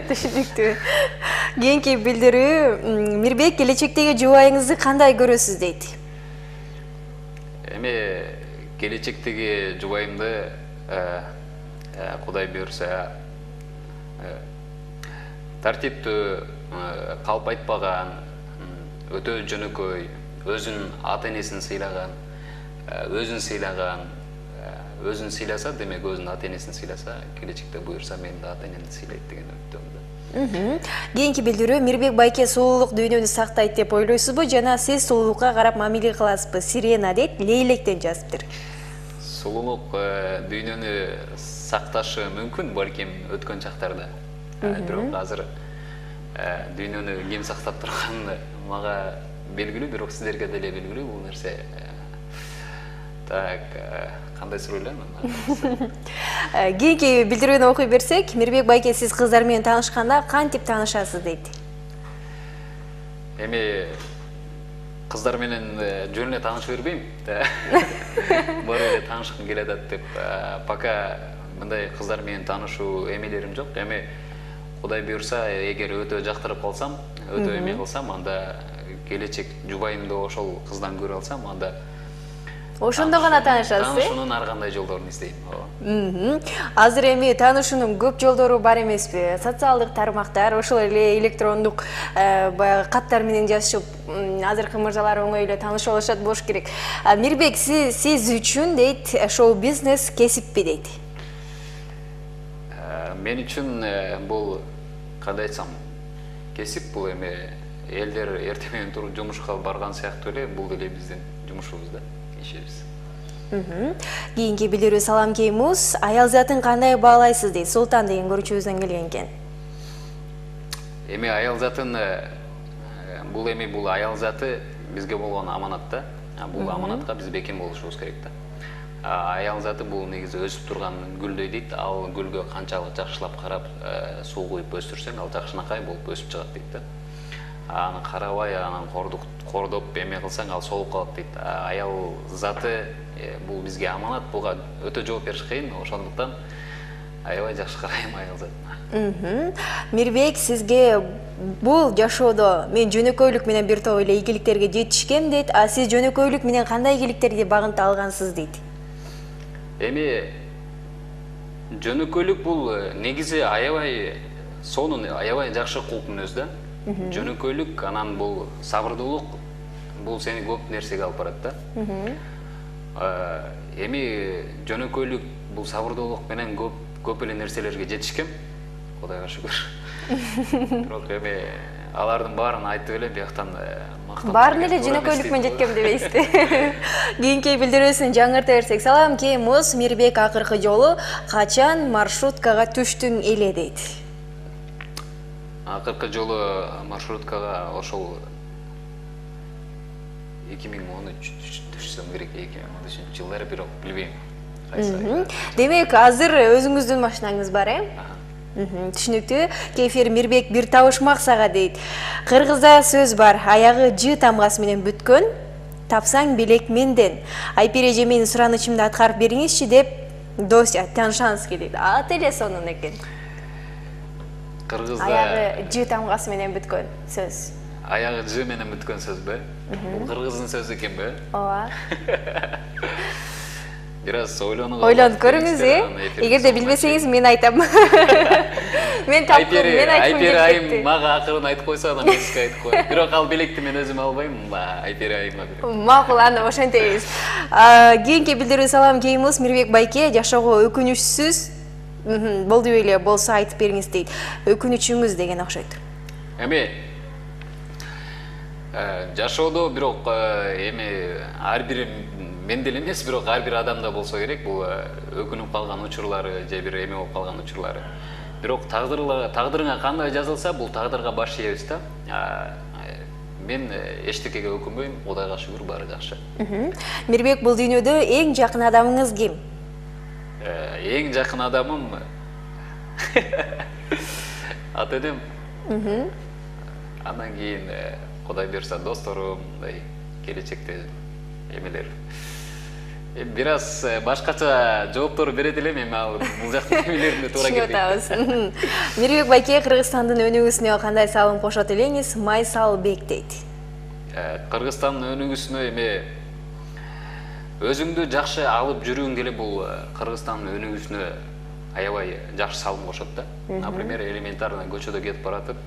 Түшүнүктүү. Кийинки билдирүү, Мирбек келечектеги жубайыңызды кандай көрөсүз дейт? Эми келечектеги жубайымды Кудай буйрса тартиптүү, калп айтпаган, өтө жөнөкөй, өзүнүн ата энесин сыйлаган, өзүн сыйлаган, өзүн сыйласа, демек өзүнүн ата энесин сыйласа, келечекте буйрса мен да ата энемди сыйлайт деген үмүттөмүн. Кийинки билдирүү, Мирбек байке сулуулук дүйнөнү сактайт деп ойлойсузбу, жана сиз сулуулукка карап мамиле кыласызбы? Сирена дейт, Лейлектен жазыптыр. Сулуулук дүйнөнү сакташы мүмкүн, балким өткөн чактарда. Бирок азыр дүйнөнү ким сактап турганы мага белгилүү, бирок сиздерге деле белгилүү бул нерсе. Так, кандай суроо эле? Кийинки билдирүүнү окуй берсек, Мирбек байке сиз кыздар менен таанышканда кантип таанышасыз дейт? Эми кыздар менен жөн эле тааныша бербейм. Бар эле таанышкым келе атат деп, пока мындай кыздар менен таанышуу эмелерим жок. Эми Кудай буйрса, эгер өтө жактырып калсам, өтө эме кылсам, анда келечек жубайымды ошол кыздан көрө алсам, анда ошондо гана таанышасыз, э? Таанышуунун ар кандай жолдорун издейм. Азыр эми таанышуунун көп жолдору бар эмеспи? Социалдык тармактар, ошол эле электрондук баягы каттар менен жазышып, азыркы мырзалар оңой эле таанышып алышат болуш керек. Мирбек, сиз үчүн дейт, шоу-бизнес кесиппи дейт? Мен үчүн бул кандай айтсам, кесип бул эми элдер эртең менен туруп жумушка барган сыяктуу эле, бул деле биздин жумушубуз да, ишибиз. Кийинки билдирүү, салам Кеймус, аял затын кандай баалайсыз дейт? Султан деген көрүүчүбүздөн келген экен. Эми аял затын бул эми бул аял заты бизге болгон аманат да. Бул аманатка биз бекем болушубуз керек да. Аял заты бул негизи өсүп турган гүлдөй дейт. Ал гүлгө канчалык жакшылап карап, суу куюп өстүрсөң, ал жакшынакай болуп өсүп чыгат дейт да. Аны карабай, анан кордоп эме кылсаң, ал солуп калат дейт. Аял заты бул бизге аманат, буга өтө жооп бериш кыйын, ошондуктан аябай жакшы карайм аял затына. Мирбек, сизге бул жашоодо мен жөнөкөйлүк менен бир топ эле ийгиликтерге жетишкем дейт, а сиз жөнөкөйлүк менен кандай ийгиликтерди багынта алгансыз дейт? Эми жөнөкөйлүк бул негизи аябай сонун, аябай жакшы кулп мүнөз да. Жөнөкөйлүк, анан бул сабырдуулук бул сени көп нерсеге алып барат да. Эми жөнөкөйлүк бул сабырдуулук менен көп көп эле нерселерге жетишкем, Кудайга шүгүр. Бирок эми алардын баарын айтып элем, бияктан мактап. Баарын эле жөнөкөйлүк менен жеткем дебейсизби? Кийинки билдирүүсүн жаңырта берсек, салам Кеймус, Мирбек акыркы жолу качан маршруткага түштүң эле дейт. Акыркы жолу маршруткага ошол эки миң он үч түшсөм керек, эки миң он үчүнчү жылдары, бирок билбейм. Демек, азыр өзүңүздүн машинаңыз бар, э? Түшүнүктүү. Кефир Мирбек бир табышмак сага дейт. Кыргызда сөз бар, аягы жы тамгасы менен бүткөн, тапсаң белек менден. Айпир эже менин суранычымды аткарып бериңизчи деп дос таанышаңыз келет. Ат эле сонун экен. Кыргызда аягы жы тамгасы менен бүткөн сөз. Аягы жы менен бүткөн сөзбү? Бул кыргыздын сөзү экенби? Ооба. Бир аз ойлонуп ойлонуп көрүңүз, э? Эгерде билбесеңиз мен айтам. Мен таптым, мен айткым келет. Айпер айым мага акырын айтып койсо, анан мен сизге айтып коем. Бирок ал белекти мен өзүм албайм, Айпер айыма берем. Макул, анда ошентебиз. Кийинки билдирүү салам Кеймус, Мирбек байке, жашоого өкүнүчсүз болду беле, болсо айтып бериңиз дейт. Өкүнүчүңүз деген окшойт. Эми жашоодо бирок эми ар бир мен деле эмес, бирок ар бир адамда болсо керек, бул өкүнүп калган учурлары же бир эме болуп калган учурлары. Бирок тагдырыңа кандай жазылса, бул тагдырга баш ийебиз да. Мен эчтекеге өкүнбөйм, Кудайга шүгүр, баары жакшы. Мирбек, бул дүйнөдө эң жакын адамыңыз ким? Эң жакын адамым ата энем. Андан кийин Кудай буйрса досторум, мындай келечекте эмелер. Бир аз башкача жооптор берет элем, эми ал бул жактын эмелерине туура келбейт. Мирбек байке, Кыргызстандын өнүгүүсүнө кандай салым кошот элеңиз? Майсалбек дейт. Кыргызстандын өнүгүүсүнө эми өзүңдү жакшы алып жүрүүң деле бул Кыргызстандын өнүгүүсүнө аябай жакшы салым кошот да. Например, элементарно көчөдө кетип баратып,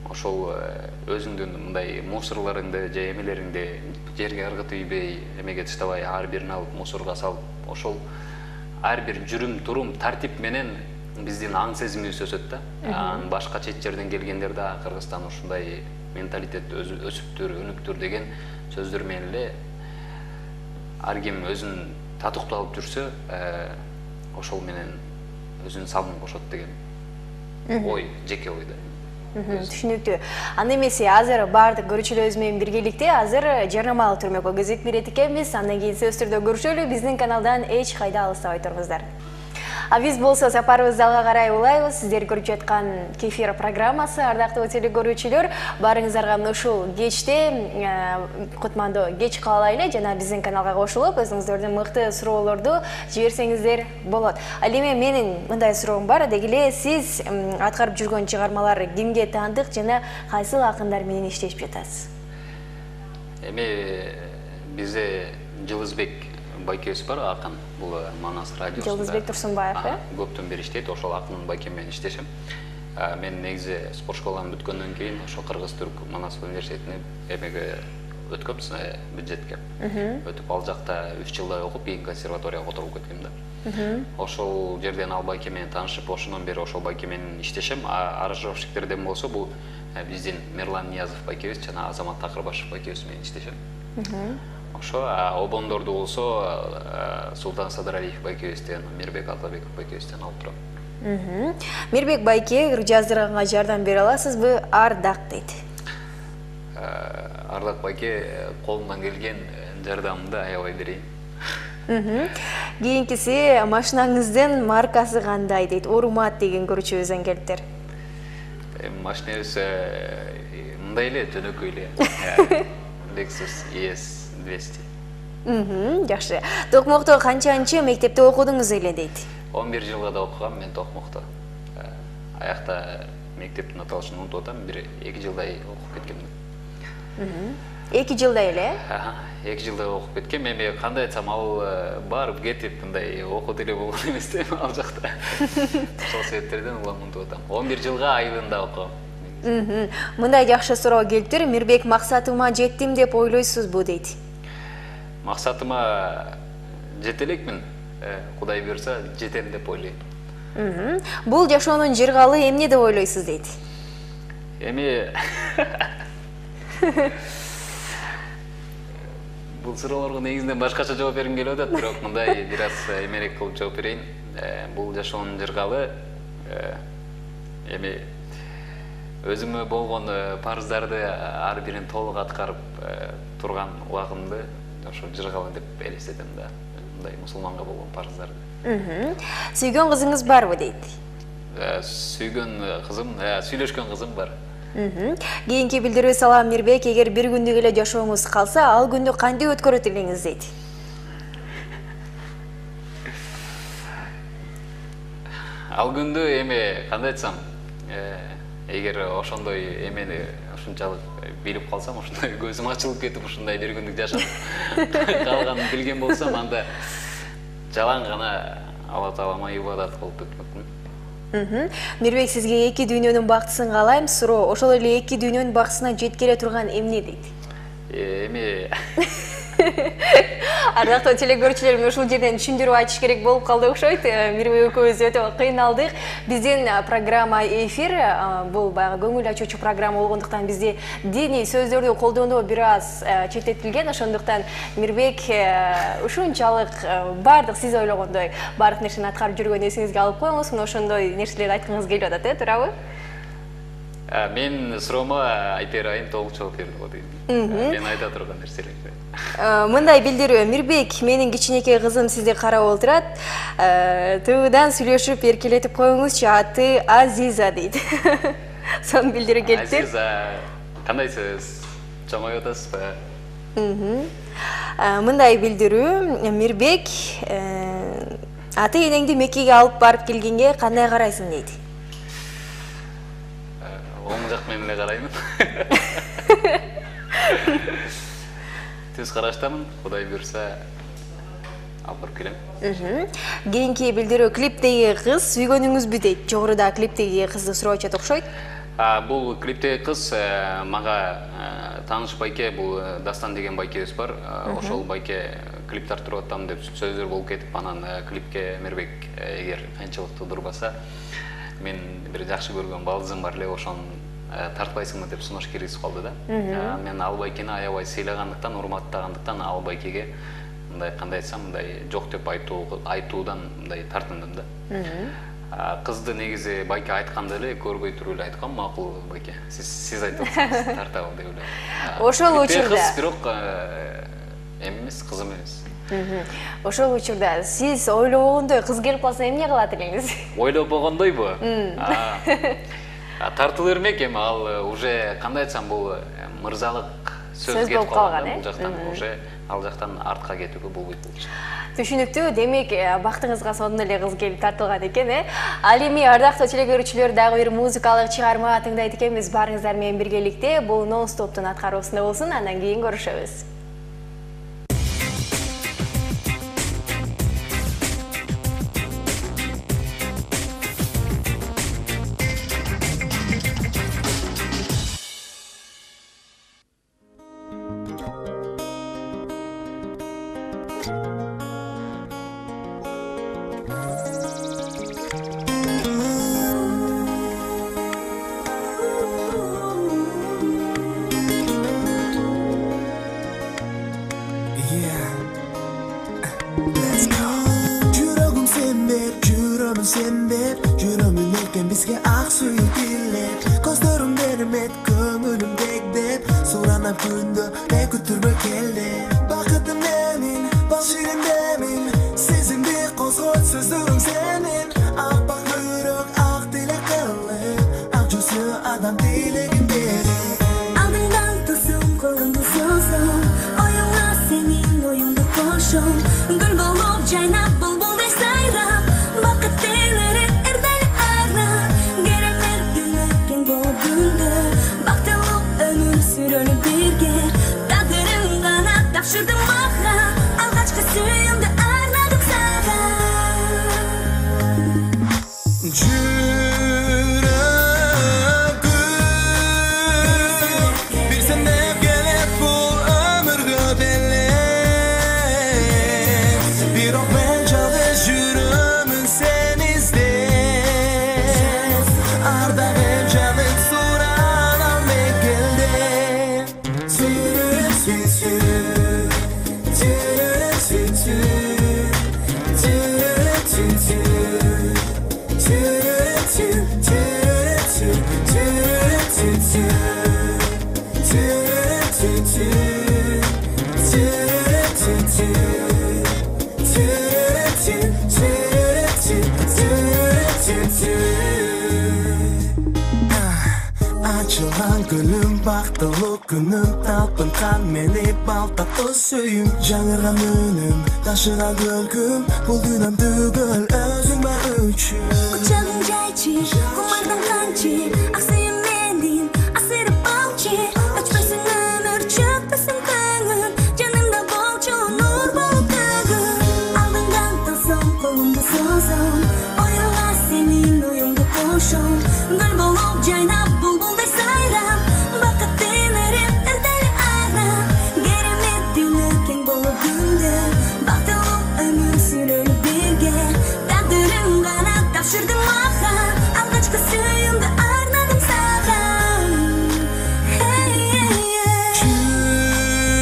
ошол өзүңдүн мындай мусорлоруңду же эмелериңди жерге ыргытып ийбей, эмеге таштабай, ар бирин алып мусорго салып, ошол ар бир жүрүм турум тартип менен биздин аң сезимибиз өсөт да. Анан башка чет жерден келгендер да Кыргызстан ушундай менталитет өсүптүр, өнүктүр деген сөздөр менен эле ар ким өзүн татыктуу алып жүрсө, ошол менен өзүнүн салымын кошот деген ой, жеке ой да. Түшүнүктүү. Анда эмесе азыр баардык көрүүчүлөрүбүз менен биргеликте азыр жарнамалык түрмөккө кезек берет экенбиз. Андан кийин сөз түрдө көрүшөлү. Биздин каналдан эч кайда алыстабай туруңуздар. А биз болсо сапарыбызды алга карай улайбыз. Сиздер көрүп жаткан Кефир программасы, ардактуу телекөрүүчүлөр, баарыңыздарга ушул кечте кутмандуу кеч каалайлы жана биздин каналга кошулуп, өзүңүздөрдүн мыкты суроолорду жиберсеңиздер болот. Ал эми менин мындай суроом бар. Деги эле сиз аткарып жүргөн чыгармалар кимге таандык жана кайсыл акындар менен иштешип жатасыз? Эми бизде Жылызбек байкебиз бар, акын. Бул Манас радиосунда. Жылызбек Турсунбаев, э? Көптөн бери иштейт, ошол акын байке менен иштешем. Мен негизи спорт школаны бүткөндөн кийин ошол Кыргыз-Түрк Манас университетине эмеге өткөм, бюджетке. Өтүп ал жакта үч жылдай окуп, кийин консерваторияга отуруп кеткем да. Ошол жерден ал байке менен таанышып, ошондон бери ошол байке менен иштешем. Аранжировщиктерден болсо бул биздин Мерлан Ниязов байкебиз жана Азамат Такырбашев байкебиз менен иштешем. Ошо обондорду болсо Султан Садаралиев байкебизден, Мирбек Атабеков байкебизден алып турам. Мирбек байке, жаздырганга жардам бере аласызбы? Ардак дейт. Ардак байке, колумдан келген жардамымды аябай берейин. Кийинкиси, машинаңыздын маркасы кандай дейт? Урмат деген көрүүчүбүздөн келиптир. Машинабыз мындай эле, жөнөкөй эле. Lexus и эс двести. Жакшы. Токмокто канчанчы мектепте окудуңуз эле дейт? он бир жылга да окугам мен Токмокто. Аякта мектептин аталышын унутуп атам, бир эки жылдай окуп кеткем. эки жылдай эле? эки жылдай окуп кеткем. Эми кандай айтсам, ал барып кетип мындай окут эле болгон эмес да ал жакта. Ошол себептерден улам унутуп атам. он бир жылга айылында окугам. Мындай жакшы суроо келиптир. Мирбек, максатыма жеттим деп ойлойсузбу дейт. Максатыма жете элекмин. Кудай буйрса жетем деп ойлойм. Бул жашоонун жыргалы эмне деп ойлойсуз дейт. Эми бул суроолорго негизинен башкача жооп бергим келип атат, бирок мындай бир аз эмерээк кылып жооп берейин. Бул жашоонун жыргалы эми өзүмө болгон парыздарды ар бирин толук аткарып турган убагымды ошо жыргалы деп элестетем да. Мындай мусулманга болгон парыздарды. Сүйгөн кызыңыз барбы дейт. Сүйгөн кызым, сүйлөшкөн кызым бар. Кийинки билдирүү салам Мирбек, эгер бир күндүк эле жашооңуз калса, ал күндү кантип өткөрөт элеңиз дейт. Ал күндү эми кандай айтсам, эгер ошондой эмени ушунчалык билип калсам, ошондой көзүм ачылып кетип, ушундай бир күндүк жашап калганын билген болсом, анда жалаң гана Алла Таалама ибадат кылып өтмөкмүн. Мирбек, сизге эки дүйнөнүн бактысын каалайм. Суроо, ошол эле эки дүйнөнүн бактысына жеткере турган эмне дейт? Эми Ардактуу телекөрүүчүлөр, мен ушул жерден түшүндүрүп айтыш керек болуп калды окшойт. Мирбек экөөбүз өтө кыйналдык. Биздин программа эфир, бул баягы көңүл ачуучу программа болгондуктан бизде диний сөздөрдү колдонуу бир аз четтетилген. Ошондуктан Мирбек ушунчалык бардык сиз ойлогондой бардык нерсени аткарып жүргөн эсиңизге алып коюңуз. Мына ошондой нерселерди айткыңыз келип атат, э, туурабы? Мен суроомо Айпер айым толук жооп берди го дейм. Мен айта турган нерселер. Мындай билдирүү, Мирбек, менин кичинекей кызым сизди карап отурат. Туудан сүйлөшүп эркелетип коюңузчу, аты Азиза дейт. Сон билдирүү келиптир. Азиза, кандайсыз? Чоңоюп атасызбы? Мындай билдирүү, Мирбек, ата энеңди Меккеге алып барып келгенге кандай карайсың дейт. Оң жак менен эле караймын. Түз караштамын, Кудай буйрса алып барып келем. Кийинки билдирүү, клиптеги кыз сүйгөнүңүзбү дейт. Жогоруда клиптеги кызды суроочу окшойт. Бул клиптеги кыз мага тааныш байке, бул Дастан деген байкебиз бар. Ошол байке клип тартырып атам деп сөздөр болуп кетип, анан клипке Мирбек эгер кыйынчылыкты турбаса, мен бир жакшы көргөн балдызым бар эле, ошон тартпайсыңбы деп сунуш киргизип калды да. Мен ал байкени аябай сыйлагандыктан, урматтагандыктан ал байкеге мындай кандай айтсам, мындай жок деп айтуудан мындай тартындым да. Кызды негизи байке айтканда эле көрбөй туруп эле айткан, макул байке. Сиз сиз айтып атасыз, тартабы деп эле. Ошол учурда кыз бирок эмес, кызым эмес. Ошол учурда сиз ойлогондой кыз келип калса эмне кылат элеңиз? Ойлобогондойбу? Тартыла бермек, эми ал уже кандай айтсам, бул мырзалык сөз кетип калган, бул жактан уже ал жактан артка кетүүгө болбойт болчу. Түшүнүктүү. Демек, бактыңызга сонун эле кыз келип тартылган экен, э? Ал эми ардактуу телекөрүүчүлөр, дагы бир музыкалык чыгарма тыңдайт экенбиз барыңыздар менен биргеликте. Бул Non Stop'тун аткаруусунда болсун, андан кийин көрүшөбүз. Açılan gülüm, baktılık günüm, talpınkan meni baltatlı söyüm. Жаңырған үнім, ташыған көлкім, бұл дүнім түгіл, өзің бар үшін. Құшағың жайчы, құмардың қанчы, ақсайым менден, асырып алчы. Өчпесін өмір, чөкпесін көңіл, жанымда болчу, нұр болып төгіл. Алдыңдан тасым, қолымды созым, ойыла сенің ойымды қошым. Гүл болып жайнап, бұлбұлдай сайрап, бақыттың өріп, ірдәлі арнап. Керемет түні кең болып күнді, бақтылы өмір сүрер бірге. Тағдырым ғана тапшырдың маған, алғашқы сүйімді арнадым саған.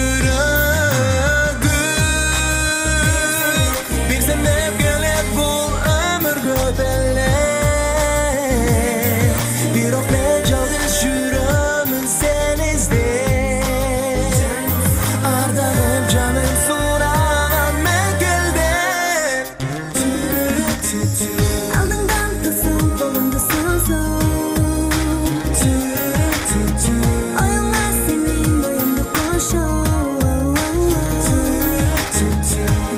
Жүрегім бір сеніп келет бұл өмірге беле. Бирок мен жалғыз жүремін сен іздеп. Ардағым жаным сұраған мен келдім. Алдыңдан тасым, қолымды созым, ойыла сенің ойымды қошым.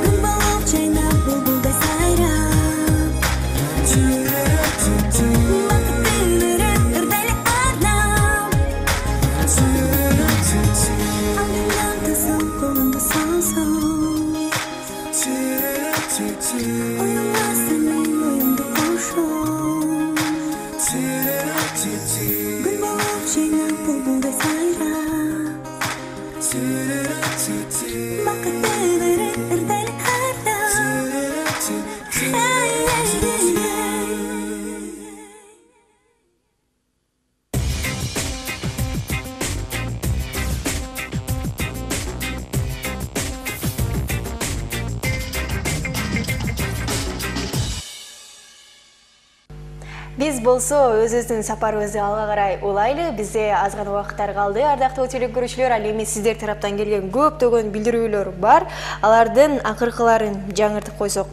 Гүл болып жайнап, бұлбұлдай сайрап, бақыттың өріп, ірдәлі арнап. Алдыңдан тасым, қолымды созым, ойыла сенің ойымды қошым. Гүл болып жайнап, бұлбұлдай сайрап, бақыттың өріп, ірдәлі арнап. Биз болсо өзүбүздүн сапарыбызды алга карай улайлы. Бизде аз гана убакыттар калды. Ардактуу телекөрүүчүлөр, ал эми сиздер тараптан келген көптөгөн билдирүүлөр бар. Алардын акыркыларын жаңыртып койсок.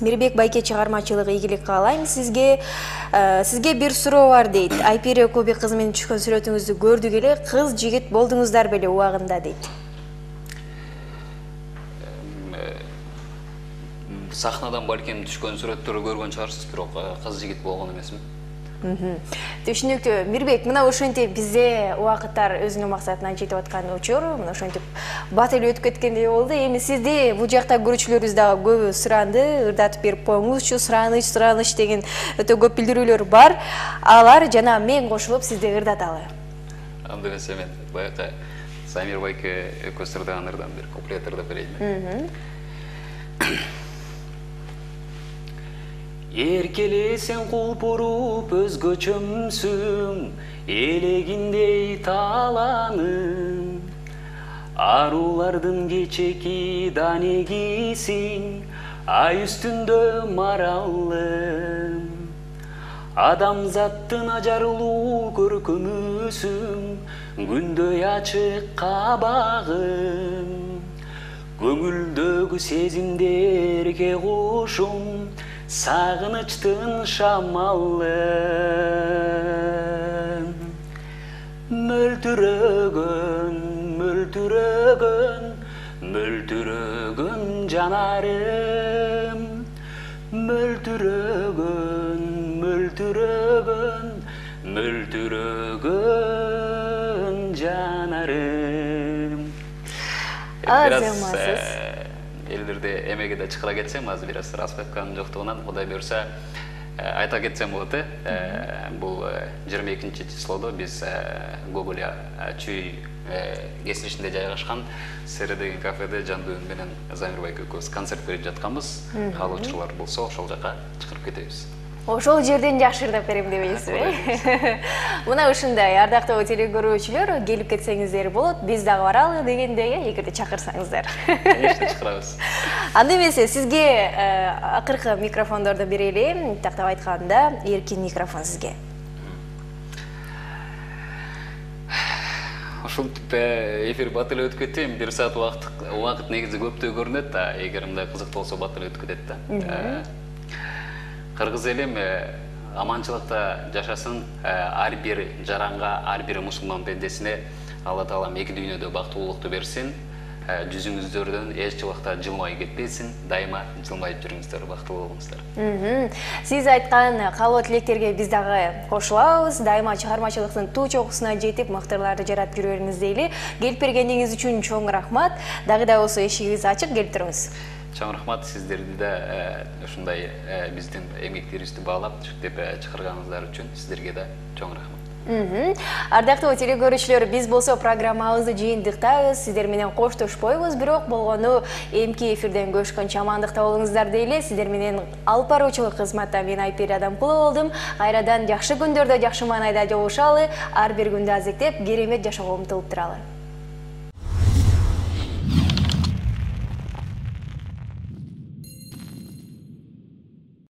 Мирбек Байке чыгармачылыгы ийгилик каалайм сизге. Сизге бир суроо бар дейт. Айпире Көбек кызы менен түшкөн сүрөтүңүздү көрдүк эле, кыз жигит болдуңуздар беле убагында дейт. Сахнадан балким түшкөн сүрөттөрдү көргөн чыгарсыз, бирок кыз жигит болгон эмесмин. Түшүнүктүү. Мирбек, мына ошентип бизде убакыттар өзүнүн максатына жетип аткан учур, мына ошентип бат эле өтүп кеткендей болду. Эми сизди бул жакта көрүүчүлөрүбүз дагы көбү суранды, ырдатып берип коюңузчу, сураныч, сураныч деген өтө көп билдирүүлөр бар. Алар жана мен кошулуп сизди ырдаталы. Анда эмесе мен баягы Самир Байке экөөбүз ырдаган ырдан бир куплет ырдап берейин. Эркелесең кулпуруп өзгөчөмсүң, элегиндей таланың. Арулардын кечеки данегисиң, ай үстүндө маралым. Адамзаттын ажарлуу көркөмүсүң, күндөй ачык кабагым. Көңүлдөгү сезимдерге кушум, сагынычтын шамалым. Мөлтүрөгөн, мөлтүрөгөн, мөлтүрөгөн жанарым. Мөлтүрөгөн, мөлтүрөгөн, мөлтүрөгөн жанарым. Азаматсыз. Элдерде эмеге да чыкыра кетсем, азыр бир аз распевканын жоктугунан Кудай буюрса айта кетсем болот э. Бул жыйырма экинчи числодо биз Гоголь Чүй кесилишинде жайгашкан Сере деген кафеде Жандуу менен Замир Байке экөөбүз концерт берип жатканбыз. Каалоочулар болсо ошол жака чакырып кетебиз. Ошол жерден жакшы ырдап берем дебейсизби? Мына ушундай ардактуу телекөрүүчүлөр, келип кетсеңиздер болот. Биз дагы баралы дегендей, эгерде чакырсаңыздар. Конечно, чакырабыз. Анда эмесе сизге акыркы микрофондорду берели. Тактап айтканда, эркин микрофон сизге. Ушинтип эфир бат эле өтүп кетти. бир саат убакыт убакыт негизи көптөй көрүнөт да, эгер мындай кызык болсо бат эле өтүп кетет да. кыргыз элим аманчылыкта жашасын, ар бир жаранга, ар бир мусулман пендесине Алла Таалам эки дүйнөдө бактылуулукту берсин. Жүзүңүздөрдөн эч убакта жылмай кетпесин, дайыма жылмайып жүрүңүздөр, бактылуу болуңуздар. Сиз айткан каалоо тилектерге биз дагы кошулабыз. Дайыма чыгармачылыктын туу чокусуна жетип, мыктыларды жаратып жүрө бериңиз дейли. Келип бергениңиз үчүн чоң рахмат. Дагы да болсо эшигибиз ачык, келип туруңуз. Чоң рахмат, сиздерди да ушундай биздин эмгектерибизди баалап деп чакырганыңыздар үчүн сиздерге да чоң рахмат. Ардактуу телекөрүүчүлөр, биз болсо программабызды жыйынтыктайбыз. Сиздер менен коштошпойбуз, бирок болгону эмки эфирден көрүшкөнчө амандыкта болуңуздар дейли. Сиздер менен алып баруучулук кызматта мен Айпери Адамкулова болдум. Кайрадан жакшы күндөрдө, жакшы маанайда жолугушалы, ар бир күндү азектеп, керемет жашоого умтулуп туралы.